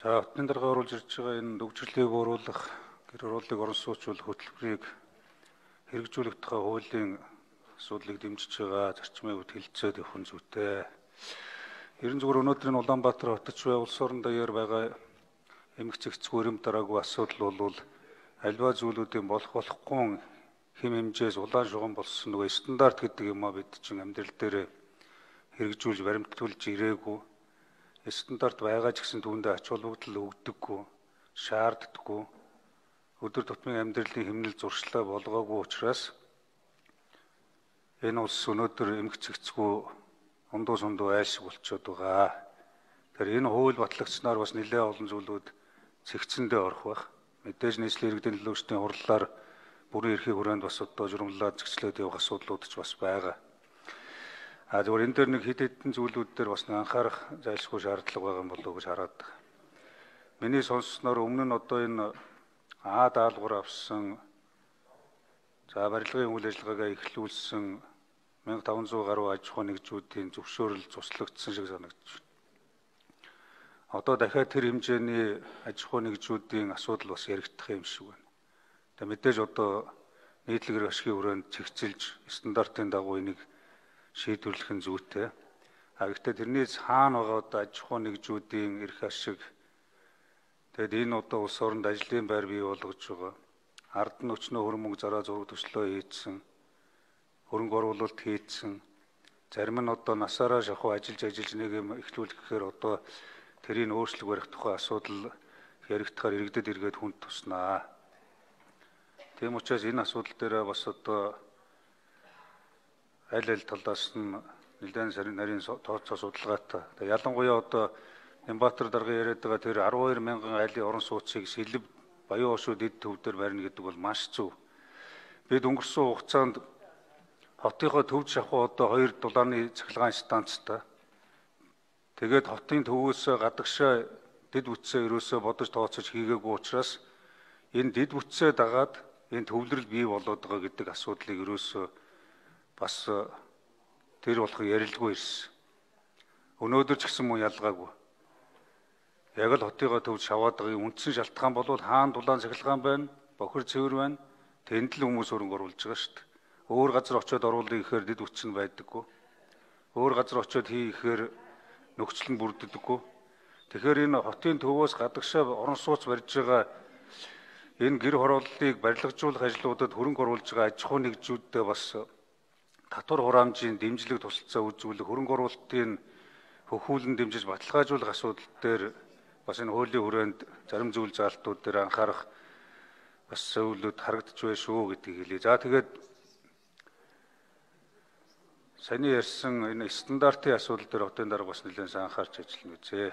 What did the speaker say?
За хотын дарга оруулж ирж байгаа энэ төвчрлийг бууруулах, гэр ороллыг орон сууцуулах хөтөлбөрийг хэрэгжүүлэх тухай хуулийн асуудлыг дэмжиж байгаа зарчмын хувьд хэлэлцээд явах нь зүйтэй. Ерөн зүгээр өнөөдрийн Улаанбаатар хотч бай улс орон даяар байгаа эмгэг цэгцгүй эрэм дараагүй асуудал бол альва зүйлүүдийн болохгүй хэм хэмжээс улаан шугам болсон нөгөө стандарт гэдэг юм а бид чинь амьдрал дээр хэрэгжүүлж баримтгуулж ирээгүй. Стандарт байгаа ч гэсэн түүндээ ач холбогдол өгдөггүй, шаарддаггүй. Өдөр тутмын амьдралын хэмнэл зуршлаа болгоогүй учраас энэ улс өнөөдөр эмгэг цэгцгүй ундуу сундуу айлшиг болчиход байгаа. Тэгэхээр энэ хууль батлагдсанаар бас нэлээд олон зүйлүүд цэгцэндээ орох байх. Мэдээж нийслэлийн иргэдийн төлөөлчдийн хурлаар бүрэн эрхийн хүрээнд бас одоо журмлаад зэгцлээд явах асуудлууд ч бас байгаа. Зөвхөн энэ дээр нэг хэд хэдэн зүйлүүд дээр бас анхаарах зайлшгүй шаардлага байгаа юм болов уу гэж хараад байна. Миний сонссноор өмнө нь одоо энэ даалгавар авсан барилгын үйл ажиллагаагаа эхлүүлсэн 1500 гаруй аж ахуй нэгжүүдийн зөвшөөрөл цуслагдсан шиг санагдаж байна. Одоо дахиад тэр хэмжээний аж ахуй нэгжүүдийн асуудал бас яригдах юм шиг байна. Тэгээ мэдээж одоо нийтлэг ашигын хүрээнд цэгцэлж стандартын дагуу энийг шийдвэрлэх нь зүйтэй. Гэхдээ тэрнээс хаана байгаа одоо аж ахуй нэгжүүдийн эрх ашиг тэгээд энэ одоо улс оронд ажлын байр бий болгож байгаа. Ард нь өчнөө хөрмөг зараа зураг төслөө хийсэн, хөрөнгө оруулалт хийсэн. Зарим нь одоо насаараа шахуу ажиллаж нэг юм эхлүүлэх гэхээр одоо тэрийг өөрчлөг барих тухай асуудал яригдахаар иргэдэд эргээд хүнд туснаа. Тийм учраас энэ асуудал дээр бас одоо аль талаас нь нэлээд нарийн тооцоо судалгаатай. Ялангуяа одоо Нямбатар даргын яриад байгаа тэр 12 мянган айлын орон сууцыг сэлб баян уушууд эд төвдөр барина гэдэг бол маш зөв. Бид өнгөрсөн хугацаанд хотынхоо төвд шахуу одоо 2 дулааны цахилгаан станцтай. Тэгээд хотын төвөөс гадагшаа дэд бүтцээ ерөөсөө бодож тооцож хийгээгүй учраас энэ дэд бүтцээ дагаад энэ төвлөрөл бий болоод байгаа гэдэг асуудлыг ерөөсөө бас тэр болох ярилгүй ирсэн. Өнөөдөр ч гэсэн мөн ялгаагүй. Яг л хотыгоо төвд шаваад байгаа үндсэн шалтгаан бол хаана дулаан цахилгаан байна, бохир цэвэр байна. Тэнд л хүмүүс хөрөнгө оруулж байгаа шүү дээ. Өөр газар очиод оруулах гэхээр дэд бүтц нь байдаггүй. Өөр газар очиод хийхээр нөхцөл нь бүрддэггүй. Тэгэхээр энэ хотын төвөөс гадагшаа орон сууц барьж байгаа энэ гэр хорооллыг барилгажуулах ажлуудад хөрөнгө оруулж байгаа аж ахуй нэгжүүдтэй бас татвар хураамжийн дэмжлэг тусалцаа үзүүлэх, хөрөнгө оруулалтын хөхүүлэн дэмжиж баталгаажуулах асуудал дээр бас энэ хуулийн хүрээнд зарим зүйл заалтууд дээр анхаарах бас зөвлөд харагдаж байна шүү гэдгийг хэлье. За тэгээд саяны ярьсан энэ стандартын асуудал дээр хотын дарга бас нэлээд анхаарч ажиллана үзье.